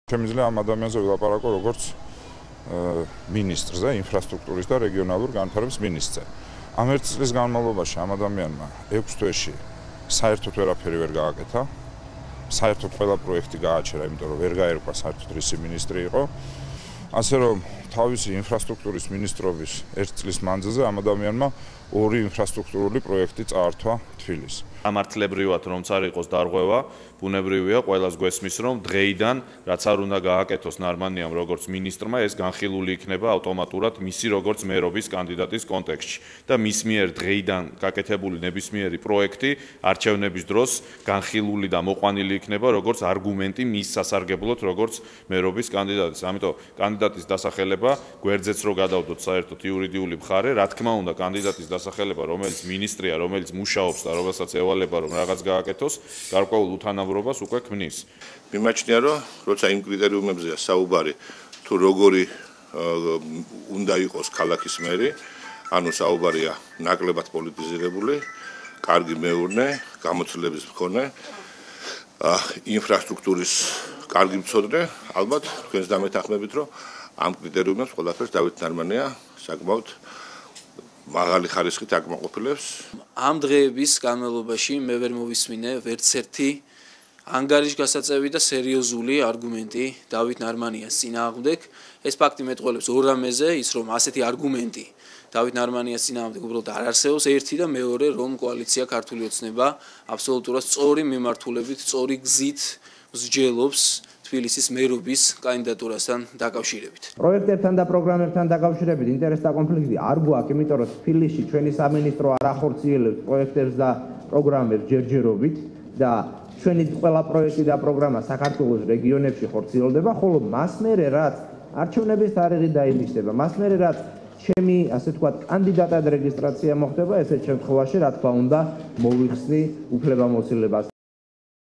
შემიძლია ამ ადამიანზე ვილაპარაკო როგორც მინისტრზე, ინფრასტრუქტურის და რეგიონალურ განვითარების მინისტრზე. ამ ერთი წლის განმავლობაში ამ ადამიანმა 6 თვეში საერთოდ ვერაფერი ვერ გააკეთა. საერთოდ ყველა პროექტი გააჩერა, იმიტომ რომ ვერ გაერკვა საერთოდ რისი მინისტრი იყო. ასე რომ თავისი ინფრასტრუქტურის მინისტრობის 1 წლის მანძილზე ამ ადამიანმა 2 ინფრასტრუქტურული პროექტი წაართვა თბილისს. Ამართლებრივად რომც არ იყოს დარღვევა, ბუნებრივია, ყველას გვესმის, რომ დღეიდან რაც არ უნდა გააკეთოს ნარმანიამ როგორც მინისტრმა, ეს განხილული იქნება ავტომატურად მისი როგორც მერობის კანდიდატის კონტექსტში და მის მიერ დღეიდან გაკეთებული ნებისმიერი პროექტი არჩევნების დროს განხილული და მოყვანილი იქნება როგორც არგუმენტი მის სასარგებლოდ როგორც მერობის კანდიდატის. ამიტომ კანდიდატის დასახელება გვერდზეც რო გადავდოთ საერთოდ იურიდიული მხარე, რა თქმა უნდა კანდიდატის დასახელება, რომელიც მინისტრია, რომელიც მუშაობს და რომელსაც ევალება რომ რაღაც გააკეთოს, გარკვეულ უთანაბრობას უკვე ქმნის. მიმაჩნია რომ როცა იმ კრიტერიუმებზეა საუბარი თუ როგორი უნდა იყოს ქალაქის მერი, ანუ საუბარია ნაკლებად პოლიტიზირებული, კარგი მეურნე, გამოცდილების მქონე, ინფრასტრუქტურის კარგი მცოდნე, ალბათ თქვენს დამეთანხმებით რომ ამ კრიტერიუმებს ყველაფერს დავით ნარმანია საკმაოდ მაღალი ხარისხით აკმაყოფილებს. Ამ დღეების განმავლობაში მე ვერ მოვისმინე ვერც ერთი ანგარიშგასაწევი და სერიოზული არგუმენტი დავით ნარმანიას წინააღმდეგ. ეს ფაქტი მეტყველებს ორ რამეზე, ის რომ ასეთი არგუმენტი დავით ნარმანიას წინააღმდეგ უბრალოდ არ არსებობს, ერთი და მეორე რომ კოალიცია ქართული ოცნება აბსოლუტურად სწორი მიმართულებით, სწორი გზით მსჯელობს თბილისის მერობის კანდიდატურასთან დაკავშირებით. პროექტებთან და პროგრამებთან დაკავშირებით ინტერესთა კონფლიქტი არ გვაქვს, იმიტომ რომ თბილისში ჩვენი სამინისტრო არ ახორციელებს პროექტებს და პროგრამებს ჯერჯერობით და ჩვენი ყველა პროექტი და პროგრამა საქართველოს რეგიონებში ხორციელდება, ხოლო მას მერე რაც არჩევნების თარიღი დაინიშნება, მას მერე რაც ჩემი ასე ვთქვათ კანდიდატად რეგისტრაცია მოხდება, ესეთ შემთხვევაში რა თქმა უნდა მოვიხსნი უფლებამოსილებას.